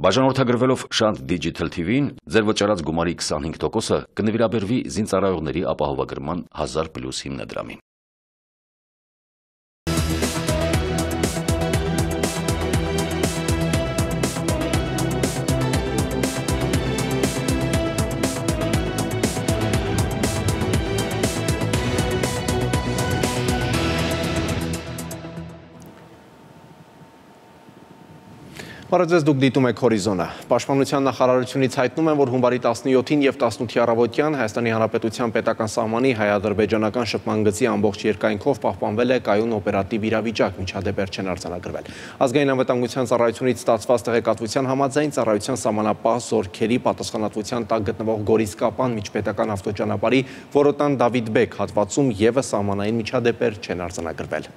Բաժանորդագրվելով Շանթ Digital TV-ին, ձեր վճարած գումարի 25%-ը կնվիրաբերվի զինծառայողների ապահովագրման 1000+ հիմնադրամին։ Բարև դուք դիտում եք Հորիզոնը։ Պաշտպանության նախարարությունից հայտնում են, որ հունվարի 17-ին եւ 18-ի առավոտյան Հայաստանի Հանրապետության պետական սահմանի հայ-ադրբեջանական շփման գծի ամբողջ երկայնքով պահպանվել է կայուն օպերատիվ իրավիճակ, միջադեպեր չեն արձանագրվել։ Ազգային անվտանգության ծառայությունից ստացված տեղեկատվության համաձայն ծառայության սահմանապահ զորքերի պատասխանատվության տակ գտնվող Գորիսկապան միջպետական ավտոճանապարհի Որոտան Դավիթ-Բեկ հատվածում եւս սահմանային միջադեպեր չեն արձանագրվել։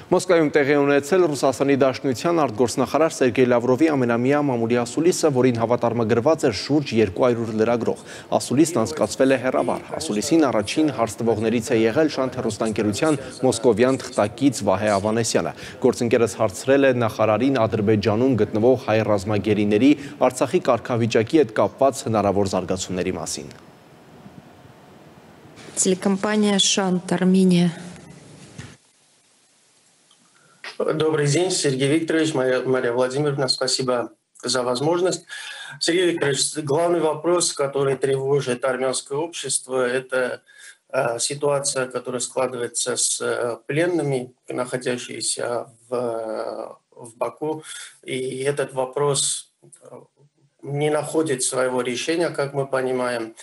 Մոսկվայում տեղի ունեցել Ռուսաստանի Դաշնության արտգործնախարար Սերգեյ Լավրովի ամենամյա մամուլի ասուլիսը, որին հավատարմագրված էր շուրջ 200 լրագրող։ Ասուլիսն անցկացվել է հեռավար։ Ասուլիսին առաջին հարց տվողներից է եղել Շանթ հեռուստաընկերության մոսկովյան թղթակից Վահե Ավանեսյանը։ Գործընկերս հարցրել է նախարարին Ադրբեջանում գտնվող հայ ռազմագերիների Արցախի կարգավիճակի հետ կապված հնարավոր զարգացումների մասին։ Телекомпания «Шант», Армения. Добрый день, Сергей Викторович, Мария Владимировна, спасибо за возможность. Сергей Викторович, главный вопрос, который тревожит армянское общество, это ситуация, которая складывается с пленными, находящимися в Баку. И этот вопрос не находит своего решения, как мы понимаем.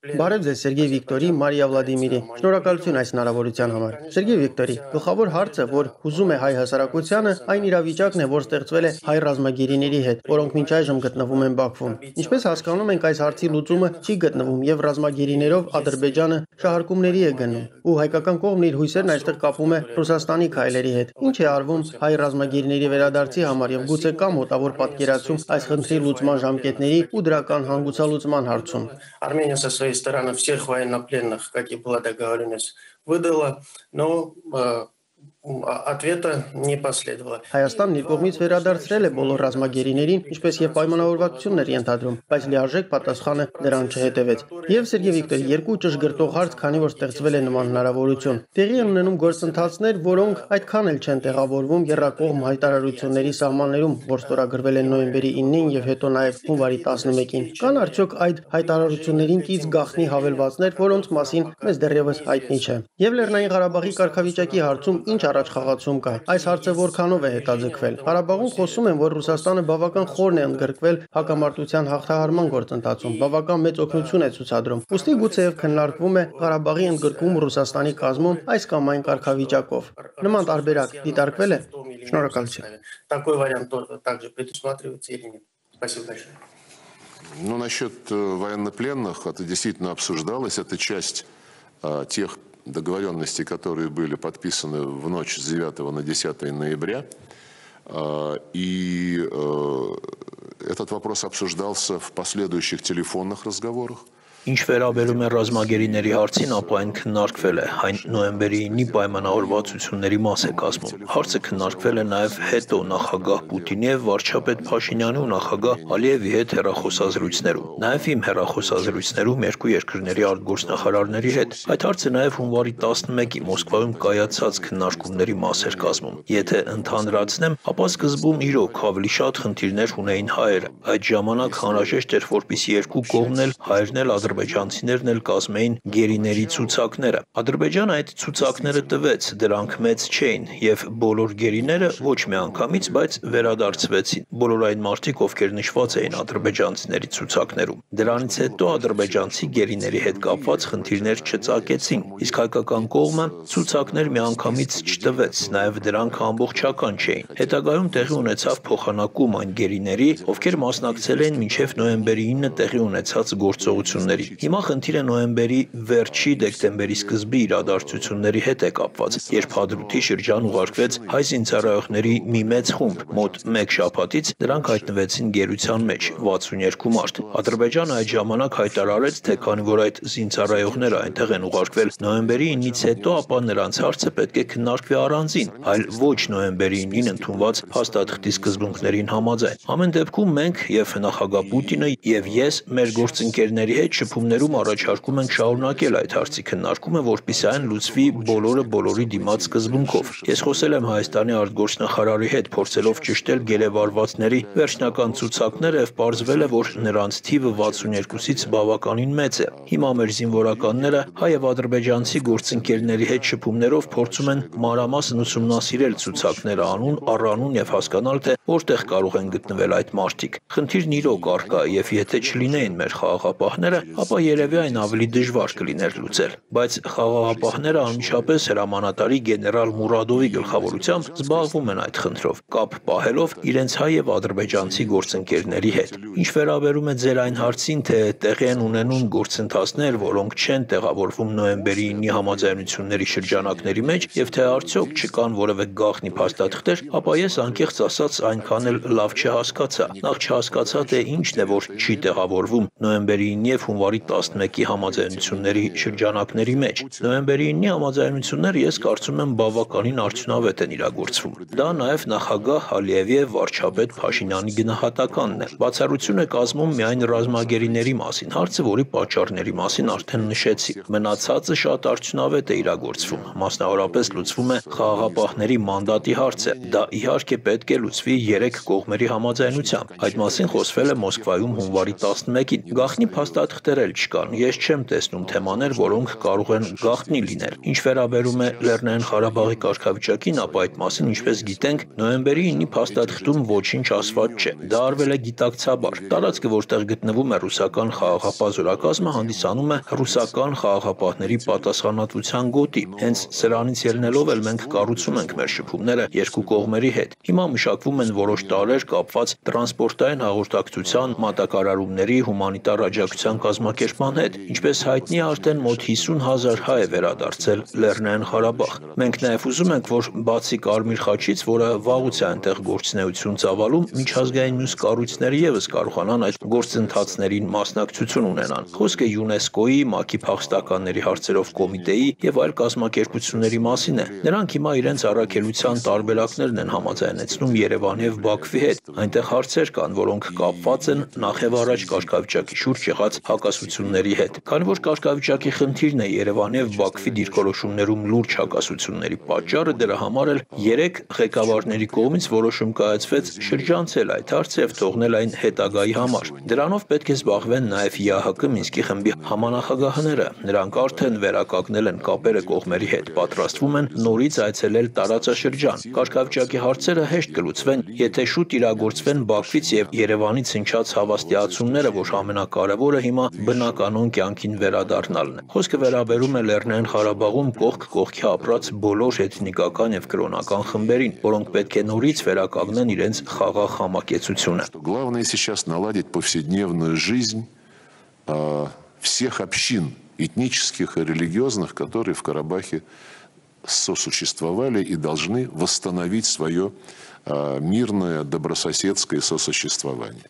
Բարև ձեզ Սերգեյ Վիկտորի, Մարիա Վլադիմիրի, շնորհակալություն այս հնարավորության համար։ Սերգեյ Վիկտորի, գլխավոր հարցը, որ հուզում է հայ հասարակությանը, այն իրավիճակն է, որ ստեղծվել է հայ ռազմագերիների հետ, որոնք մինչ այժմ գտնվում են Բաքվում։ Ինչպես հասկանում ենք, այս հարցի լուծումը չի գտնվում եւ ռազմագերիներով Ադրբեջանը շահարկումների է գնում, ու հայկական կողմն իր հույսերն այստեղ կապում է Ռուսաստանի քայլերի հետ։ Ինչ է արվում հայ ռազմագերիների վերադարձի համար եւ գուցե կա մոտավոր պատկերացում այս խնդրի լուծման ժամկետների ու դրական հանգուցալուծման հարցում։ Армения со своей стороны всех военнопленных, как и была договоренность, выдала, но ответа не последовало. Հայաստանն իր կողմից վերադարձրել է բոլոր ռազմագերիներին, ինչպես եւ պայմանավորվածություններ ենթադրում, բայց լիարժեք պատասխանը դրան չհետևեց։ Եվ Սերգեյ Վիկտորի, երկու ճշգրտող հարց, քանի որ ստեղծվել է նման հնարավորություն։ Տեղի են ունենում գործընթացներ, որոնք այդքան էլ չեն տեղավորվում եռակողմ հայտարարությունների սահմաններում, որ ստորագրվել են նոյեմբերի 9-ին եւ հետո նաեւ հունվարի 11-ին։ Կան արդյոք այդ հայտարարություններին կից գաղտնի հավելվածներ, որոնց մասին մեզ դեռևս հայտնի չէ։ Եվ Լեռնային Ղարաբաղի կարգավիճակի հարցում ինչ առաջխաղացում կա։ Այս հարցը որքանով է հետաձգվել։ Ղարաբաղում խոսում են, որ Ռուսաստանը բավական խորն է ընդգրկվել հակամարտության հաղթահարման գործընթացում, բավական մեծ օգնություն է ցուցադրում։ Ուստի գուցեև քննարկվում է Ղարաբաղի ընդգրկում Ռուսաստանի կազմում այս կամ այն կարգավիճակով։ Նման տարբերակ դիտարկվել է։ Շնորհակալություն։ Такой вариант также предусматривается или нет? Спасибо большое. Ну, насчет военнопленных, это действительно обсуждалось, это часть тех договоренностей, которые были подписаны в ночь с 9 на 10 ноября. И этот вопрос обсуждался в последующих телефонных разговорах. Ինչ վերաբերում է ռազմագերիների հարցին, ապա այն քննարկվել է, այն նոյեմբերի 9-ի պայմանավորվածությունների մաս է կազմում։ Հարցը քննարկվել է նաև հետո նախագահ Պուտինի եւ վարչապետ Փաշինյանի ու նախագահ Ալիևի հետ հեռախոսազրույցներում։ Նաև իմ հեռախոսազրույցներում երկու երկրների արտգործնախարարների հետ։ Այդ հարցը նաև հունվարի 11-ի Մոսկվայում կայացած քննարկումների մաս էր կազմում։ Եթե ընդհանրացնեմ, ապա սկզբում իրոք ավելի շատ խնդիրներ ունեին հայերը։ Այդ ժամանակ անհրաժեշտ էր, որպեսզի երկու կողմն էլ հայերն էլ ադրբեջանցիներն էլ կազմեին գերիների ցուցակները։ Ադրբեջանը այդ ցուցակները տվեց, դրանք մեծ չէին եւ բոլոր գերիները ոչ միանգամից, բայց վերադարձվեցին։ Բոլոր այն մարդիկ, ովքեր նշված էին ադրբեջանցիների ցուցակներում։ Դրանից հետո ադրբեջանցի գերիների հետ կապված խնդիրներ չծագեցին, իսկ հայկական կողմը ցուցակներ միանգամից չտվեց, նաեւ դրանք ամբողջական չէին։ Հետագայում տեղի ունեցավ փոխանակում այն գերիների, ովքեր մասնակցել էին մինչև նոյեմբերի 9-ը տեղի ունեցած գործողությունների։ Հիմա խնդիրը նոյեմբերի վերջի դեկտեմբերի սկզբի իրադարձությունների հետ է կապված, երբ Հադրութի շրջան ուղարկվեց հայ զինծառայողների մի մեծ խումբ, մոտ 1 շաբաթից նրանք հայտնվեցին գերության մեջ 62 մարդ։ Ադրբեջանը այդ ժամանակ հայտարարեց, թե քանի որ այդ զինծառայողները այնտեղ են ուղարկվել նոյեմբերի 9-ից հետո, ապա նրանց հարցը պետք է քննարկվի առանձին, այլ ոչ նոյեմբերի 9-ին ընդունված փաստաթղթի սկզբունքներին համաձայն։ Ամեն դեպքում մենք եւ նախագահ Պուտինը եւ ես մեր գործընկերների հետ շփումներում առաջարկում ենք շարունակել այդ հարցի քննարկումը, որպեսզի այն լուծվի բոլորը բոլորի դիմաց սկզբունքով։ Ես խոսել եմ Հայաստանի արտգործնախարարի հետ, փորձելով ճշտել գերեվարվածների վերջնական ցուցակները եւ պարզվել է, որ նրանց թիվը 62-ից բավականին մեծ է։ Հիմա մեր զինվորականները հայ եւ ադրբեջանցի գործընկերների հետ շփումներով փորձում են մանրամասն ուսումնասիրել ցուցակները անուն առ անուն եւ հասկանալ, թե որտեղ կարող են գտնվել այդ մարդիկ։ Խնդիրն իրոք առկա է եւ եթե չլինեին մեր խաղաղապահները, ապա երևի այն ավելի դժվար կլիներ լուծել։ Բայց խաղաղապահները անմիջապես հրամանատարի գեներալ Մուրադովի գլխավորությամբ զբաղվում են այդ խնդրով, կապ պահելով իրենց հայ եւ ադրբեջանցի գործընկերների հետ։ Ինչ վերաբերում է ձեր այն հարցին, թե տեղի են ունենում գործընթացներ, որոնք չեն տեղավորվում նոյեմբերի 9-ի համաձայնությունների շրջանակների մեջ եւ թե արդյոք չկան որևէ գաղտնի փաստաթղթեր, ապա ես անկեղծ ասած այնքան էլ լավ չհասկացա։ Նախ չհասկացա, թե ինչն է, որ չի տեղավորվում նոյեմբերի 9-ի եւ հունվարի 11-ի համաձայնությունների շրջանակների մեջ։ Նոյեմբերի 9-ի համաձայնությունները ես կարծում եմ բավականին արդյունավետ են իրագործվում։ Դա նաեւ նախագահ Ալիևի եւ վարչապետ Փաշինյանի գնահատականն է։ Բացառություն է կազմում միայն ռազմագերիների մասին, հարցը, որի պատճառների մասին արդեն նշեցի։ Մնացածը շատ արդյունավետ է իրագործվում, մասնավորապես լուծվում է խաղաղապահների մանդատի հարցը։ Դա իհարկե պետք է լուծվի 3 կողմերի համաձայնությամբ։ Այդ մասին խոսվել է Մոսկվայում հունվարի 11-ին։ Գաղտնի փաստաթղթեր էլ չկան։ Ես չեմ տեսնում թեմաներ, որոնք կարող են գաղտնի լինել։ Ինչ վերաբերում է Լեռնային Ղարաբաղի կարգավիճակին, ապա այդ մասին, ինչպես գիտենք, նոյեմբերի 9-ի փաստաթղթում ոչինչ ասված չէ։ Դա արվել է գիտակցաբար։ Տարածքը, որտեղ գտնվում է ռուսական խաղաղապահ զորակազմը, հանդիսանում է ռուսական խաղաղապահների պատասխանատվության գոտի։ Հենց սրանից ելնելով էլ մենք կառուցում ենք մեր շփումները երկու կողմերի հետ։ Հիմա մշակվում են որոշ տարրեր կապված տրանսպորտային հաղորդակցության, մատակարարումների, հումանիտար աջակցության կազմակերպման հետ։ Ինչպես հայտնի է, արդեն մոտ 50,000 հայ է վերադարձել Լեռնային Ղարաբաղ։ Մենք նաև ուզում ենք, որ բացի Կարմիր խաչից, որը վաղուց է այնտեղ գործունեություն ծավալում, միջազգային մյուս կառույցները ևս կարողանան այդ գործընթացներին մասնակցություն ունենան։ Խոսքը ՅՈՒՆԵՍԿՕ-ի, ՄԱԿ-ի փախստականների հարցերով կոմիտեի եւ այլ կազմակերպությունների մասին է։ Նրանք հիմա իրենց առաքելության տարբերակներն են համաձայնեցնում Երևանի եւ Բաքվի հետ։ Այնտեղ հարցեր կան, որոնք կապված են նախ եւ առաջ կարգավիճակի շուրջ եղած հակասությունների հետ։ Քանի որ կարգավիճակի խնդիրն է Երևանի եւ Բաքվի դիրքորոշումներում լուրջ հակասությունների պատճառը, դրա համար էլ 3 ղեկավարների կողմից որոշում կայացվեց շրջանցել այդ հարցը եւ թողնել այն հետագայի համար։ Դրանով պետք է զբաղվեն նաեւ ՀՀԿ Մինսկի խմբի համանախագահները։ Նրանք արդեն վերականգնել են կապերը կողմերի հետ, պատրաստվում են նորից այցելել տարածաշրջան։ Կարգավիճակի հարցերը հեշտ կլուծվեն, եթե շուտ իրագործվեն Բաքվից եւ Երևանից հնչած հավաստիացումները, որ ամենակարևորը հիմա բնականon կյանքին վերադառնալն է։ Խոսքը վերաբերում է Լեռնային Ղարաբաղում կողք կողքի ապրած բոլոր էթնիկական եւ կրոնական խմբերին, որոնք պետք է նորից վերականգնեն իրենց խաղաղ համակեցությունը։ Главное сейчас наладить повседневную жизнь всех общин этнических и религиозных, которые в Карабахе сосуществовали и должны восстановить свое мирное, добрососедское сосуществование.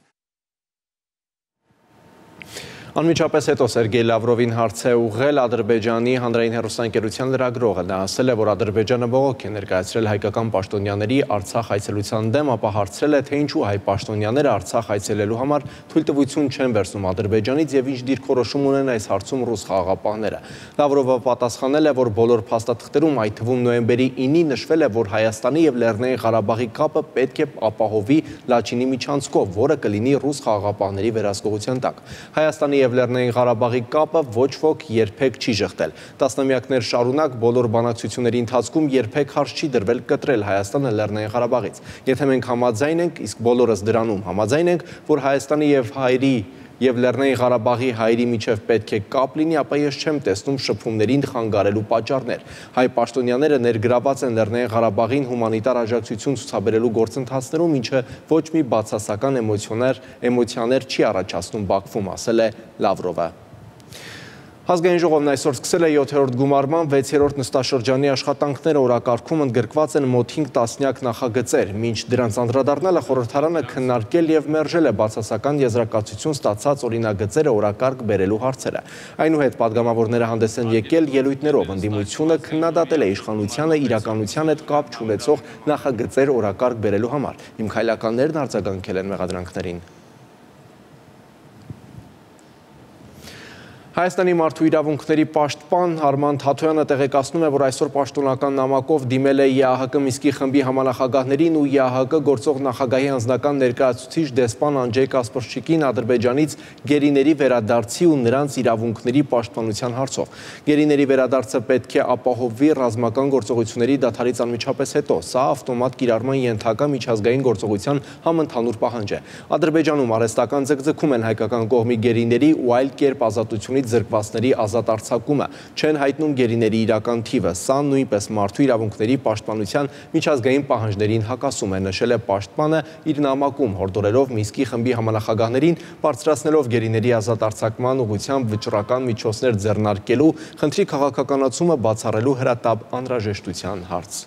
Անմիջապես հետո Սերգեյ Լավրովին հարց է ուղղել Ադրբեջանի հանրային հեռուստաընկերության լրագրողը։ Նա ասել է, որ Ադրբեջանը բողոք է ներկայացրել հայկական պաշտոնյաների Արցախ այցելության դեմ, ապա հարցրել է, թե ինչու հայ պաշտոնյաները Արցախ այցելելու համար թույլտվություն չեն վերցնում Ադրբեջանից եւ ինչ դիրքորոշում ունեն այս հարցում ռուս խաղաղապահները։ Լավրովը պատասխանել է, որ բոլոր փաստաթղթերում, այդ թվում նոյեմբերի 9-ի նշվել է, որ Հայաստանի եւ Լեռնային Ղարաբաղի կապը պետք է ապահովի Լաչինի միջանցքով, որը կլինի ռուս խաղաղապահների վերահսկողության տակ։ Հայաստանի եւ Լեռնային Ղարաբաղի կապը ոչ ոք երբեք չի ժխտել։ Տասնամյակներ շարունակ բոլոր բանակցությունների ընթացքում երբեք հարց չի դրվել կտրել Հայաստանը Լեռնային Ղարաբաղից։ Եթե մենք համաձայն ենք, իսկ բոլորս դրանում համաձայն ենք, որ Հայաստանի եւ Լեռնային Ղարաբաղի հայերի միջև պետք է կապ լինի, ապա ես չեմ տեսնում շփումներին խանգարելու պատճառներ։ Հայ պաշտոնյաները ներգրաված են Լեռնային Ղարաբաղին հումանիտար աջակցություն ցուցաբերելու գործընթացներում, ինչը ոչ մի բացասական էմոցիաներ չի առաջացնում Բաքվում, ասել է Լավրովը։ Ազգային ժողովն այսօր սկսել է 7-րդ գումարման 6-րդ նստաշրջանի աշխատանքները, օրակարգում ընդգրկված են մոտ 5 տասնյակ նախագծեր։ Մինչ դրանց անդրադառնալը խորհրդարանը քննարկել եւ մերժել է բացասական եզրակացություն ստացած օրինագծերը օրակարգ բերելու հարցերը։ Այնուհետ падգամավորները հանդես են եկել ելույթներով, ընդդիմությունը քննադատել է իշխանությանը իրականության հետ կապ չունեցող նախագծեր օրակարգ բերելու համար։ Իմ քայլականներն արձագանքել են մեղադրանքներին։ Հայաստանի մարդու իրավունքների պաշտպան Արման Թաթոյանը տեղեկացնում է, որ այսօր պաշտոնական նամակով դիմել է ԵԱՀԿ Մինսկի խմբի համանախագահներին ու ԵԱՀԿ գործող նախագահի անձնական ներկայացուցիչ դեսպան Անջեյ Կասպրչիկին Ադրբեջանից գերիների վերադարձի ու նրանց իրավունքների պաշտպանության հարցով։ Գերիների վերադարձը պետք է ապահովվի ռազմական գործողությունների դադարից անմիջապես հետո։ Սա ավտոմատ կիրառման ենթակա միջազգային գործողության համընդհանուր պահանջ է։ Ադրբեջանում արհեստական ձգձգում են հայկական կողմի գերիների ու այլ կերպ ազատությունից զրկվածների ազատ արձակումը, չեն հայտնում գերիների իրական թիվը, սա նույնպես մարդու իրավունքների պաշտպանության միջազգային պահանջներին հակասում է, նշել է պաշտպանը իր նամակում, հորդորելով Մինսկի խմբի համանախագահներին բարձրացնելով գերիների ազատ արձակման ուղղությամբ վճռական միջոցներ ձեռնարկելու, խնդրի քաղաքականացումը բացառելու հրատապ անհրաժեշտության հարց։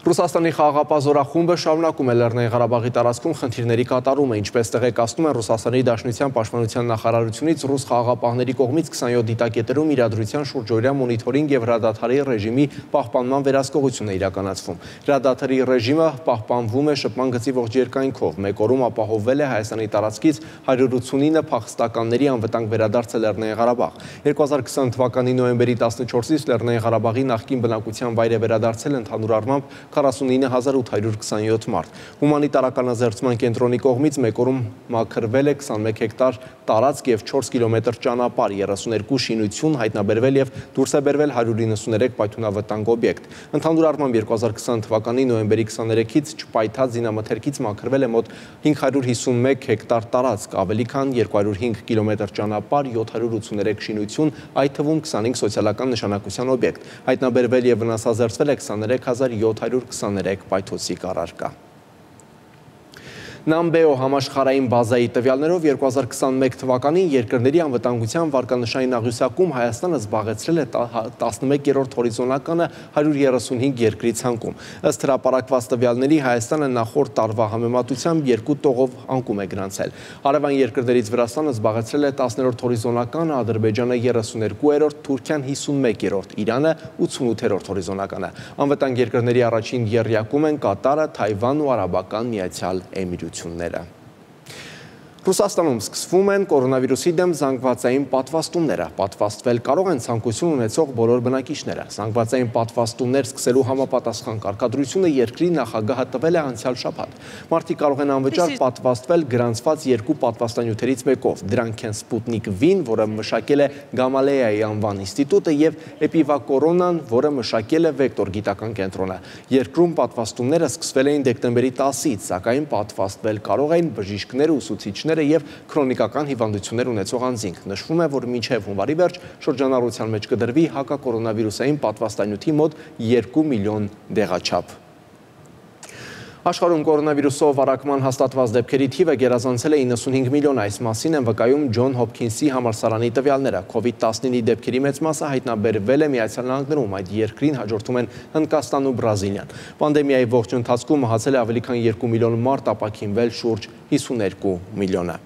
Ռուսաստանի խաղաղապահ զորախումբը շարունակում է Լեռնային Ղարաբաղի տարածքում խնդիրների կատարումը, ինչպես տեղեկացնում են Ռուսաստանի Դաշնության պաշտպանության նախարարությունից, ռուս խաղաղապահների կողմից 27 դիտակետերում իրադրության շուրջօրյա մոնիթորինգ եւ հրադադարի ռեժիմի պահպանման վերահսկողություն է իրականացվում։ Հրադադարի ռեժիմը պահպանվում է շփման գծի ողջ երկայնքով։ Մեկ օրում ապահովվել է Հայաստանի տարածքից 189 փախստականների անվտանգ վերադարձը Լեռնային Ղարաբաղ։ 2020 թվականի նոյեմբերի 14-ից Լեռնային Ղարաբաղի նախկին բնակության վայր է վերադարձել ընդհանուր առմամբ 49827 մարդ։ Հումանիտարական ազերծման կենտրոնի կողմից մեկ օրում մաքրվել է 21 հեկտար տարածք եւ 4 կիլոմետր ճանապարհ, 32 շինություն հայտնաբերվել եւ դուրս է բերվել 193 պայթյունավտանգ օբյեկտ։ Ընդհանուր առմամբ 2020 թվականի նոյեմբերի 23-ից չպայթած զինամթերքից մաքրվել է մոտ 551 հեկտար տարածք, ավելի քան 205 կիլոմետր ճանապարհ, 783 շինություն, այդ թվում 25 սոցիալական նշանակության օբյեկտ։ Հայտնաբերվել եւ վնասազերծվել է 23723 պայթոցիկ առարկա։ Նամբեո համաշխարհային բազայի տվյալներով 2021 թվականին երկրների անվտանգության վարկանշային աղյուսակում Հայաստանը զբաղեցրել է 11-րդ հորիզոնականը 135 երկրի ցանկում։ Ըստ հրապարակված տվյալների Հայաստանը նախորդ տարվա համեմատությամբ 2 տողով անկում է գրանցել։ Հարևան երկրներից Վրաստանը զբաղեցրել է 10-րդ հորիզոնականը, Ադրբեջանը 32-րդ, Թուրքիան 51-րդ, Իրանը 88-րդ հորիզոնականը։ Անվտանգ երկրների առաջին եռյակում են Կատարը, Թայվանն ու Արաբական Միացյալ Էմիրությունները։ Ռուսաստանում սկսվում են կորոնավիրուսի դեմ զանգվածային պատվաստումները։ Պատվաստվել կարող են ցանկություն ունեցող բոլոր բնակիչները։ Զանգվածային պատվաստումներ սկսելու համապատասխան կարգադրությունը երկրի նախագահը տվել է անցյալ շաբաթ։ Մարդիկ կարող են անվճար պատվաստվել գրանցված 2 պատվաստանյութերից մեկով։ Դրանք են Սպուտնիկ V-ն, որը մշակել է Գամալեայի անվան ինստիտուտը, եւ Էպիվակորոնան, որը մշակել է Վեկտոր գիտական կենտրոնը։ Երկրում պատվաստումները սկսվել էին դեկտեմբերի 10-ից, սակայն պատվաստվել կարող են բժիշկները, ուսուցիչները եւ քրոնիկական հիվանդություններ ունեցող անձինք։ Նշվում է, որ մինչև հունվարի վերջ շրջանառության մեջ կդրվի հակակորոնավիրուսային պատվաստանյութի մոտ 2 միլիոն դեղաչափ։ Աշխարհում կորոնավիրուսով առակման հաստատված դեպքերի թիվը գերազանցել է 95 միլիոն, այս մասին են վկայում Ջոն Հոփքինսի համալսարանի տվյալները։ COVID-19-ի դեպքերի մեծ մասը հայտնաբերվել է Միացյալ Նահանգներում, այդ երկրին հաջորդում են Հնդկաստանն ու Բրազիլիան։ Պանդեմիայի ողջ ընթացքում մահացել է ավելի քան 2 միլիոն մարդ, ապաքինվել շուրջ 52 միլիոնը։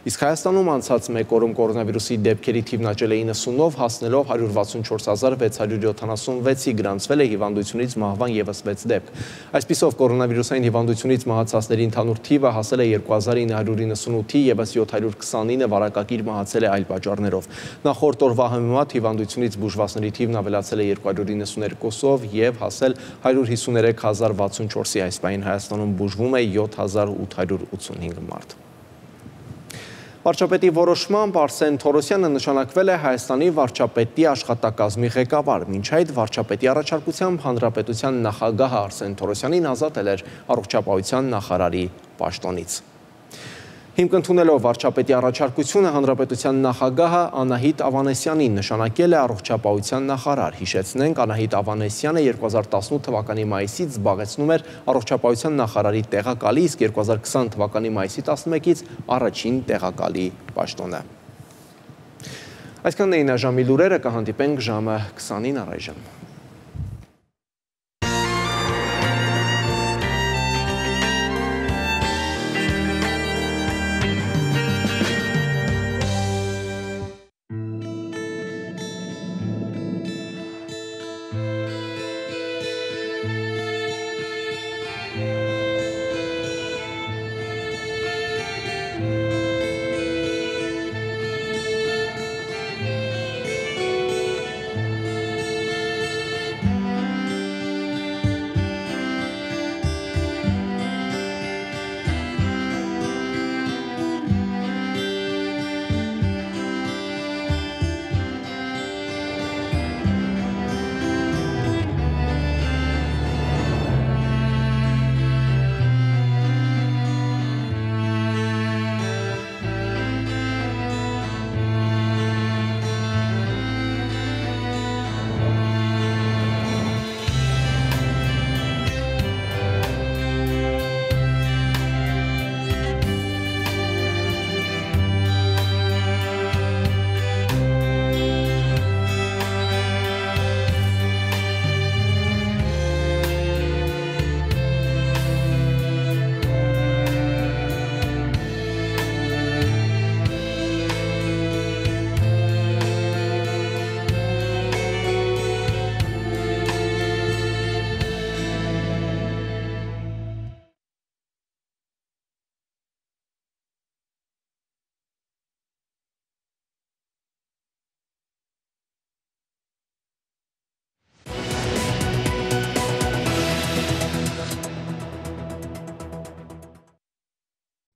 Իսկ Հայաստանում անցած մեկ օրում կորոնավիրուսի դեպքերի թիվն աճել է 90-ով, հասնելով 164676-ի, գրանցվել է հիվանդությունից մահվան ևս 6 դեպք։ Այսպիսով կորոնավիրուսային հիվանդությունից մահացածների ընդհանուր թիվը հասել է 2998-ի, ևս 729 վարակակիր մահացել է այլ պատճառներով։ Նախորդ օրվա համեմատ հիվանդությունից բուժվածների թիվն ավելացել է 292-ով եւ հասել 153064-ի, այս պահին Հայաստանում բուժվում է 7885 մարդ։ Վարչապետի որոշմամբ Արսեն Թորոսյանը նշանակվել է Հայաստանի վարչապետի աշխատակազմի ղեկավար։ Մինչ այդ վարչապետի առաջարկությամբ հանրապետության նախագահը Արսեն Թորոսյանին ազատել էր առողջապահության նախարարի պաշտոնից։ Հիմք ընդունելով վարչապետի առաջարկությունը հանրապետության նախագահը Անահիտ Ավանեսյանին նշանակել է առողջապահության նախարար։ Հիշեցնենք, Անահիտ Ավանեսյանը 2018 թվականի մայիսից զբաղեցնում էր առողջապահության նախարարի տեղակալի, իսկ 2020 թվականի մայիսի 11-ից առաջին տեղակալի պաշտոնը։ Այսքանն էին այժմի լուրերը, կհանդիպենք ժամը 20-ին առայժմ։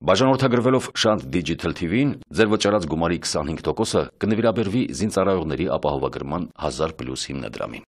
Բաժանորդագրվելով Շանթ Digital TV-ին, ձեր վճարած գումարի 25%-ը կնվիրաբերվի զինծառայողների ապահովագրման 1000+ հիմնադրամին։